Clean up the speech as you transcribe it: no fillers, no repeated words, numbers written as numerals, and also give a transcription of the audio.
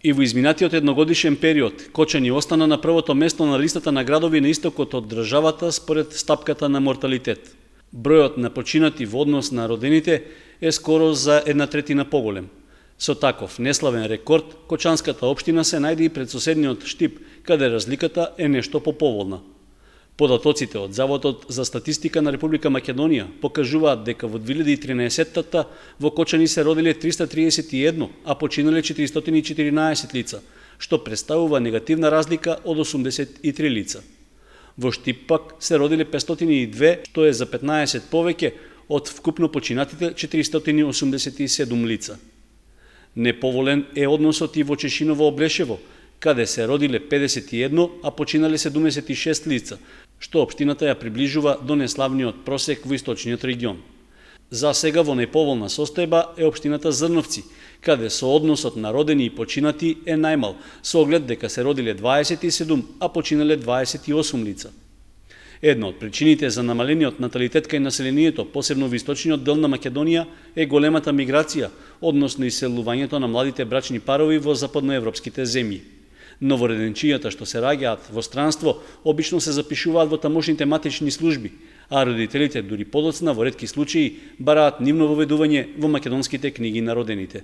И во изминатиот едногодишен период, Кочани остана на првото место на листата на градови на истокот од државата според стапката на морталитет. Бројот на починати во однос на родените е скоро за 1/3 поголем. Со таков неславен рекорд, Кочанската општина се најде и пред соседниот Штип, каде разликата е нешто поповолна. Податоците од Заводот за статистика на Република Македонија покажуваат дека во 2013-та во Кочани се родиле 331, а починале 414 лица, што представува негативна разлика од 83 лица. Во Штип пак се родиле 502, што е за 15 повеќе од вкупно починатите 487 лица. Неповолен е односот и во Чешиново-Облешево, каде се родиле 51, а починале 76 лица, што општината ја приближува до неславниот просек во источниот регион. За сега во неповолна состојба е општината Зрновци, каде со односот на родени и починати е најмал, со оглед дека се родиле 27, а починале 28 лица. Една од причините за намалениот наталитет кај населението, посебно во источниот дел на Македонија, е големата миграција, односно иселувањето на младите брачни парови во западноевропските земји. Новореденчињата што се раѓаат во странство обично се запишуваат во тамошните матични служби, а родителите дури подоцна во ретки случаи бараат нивно воведување во македонските книги на родените.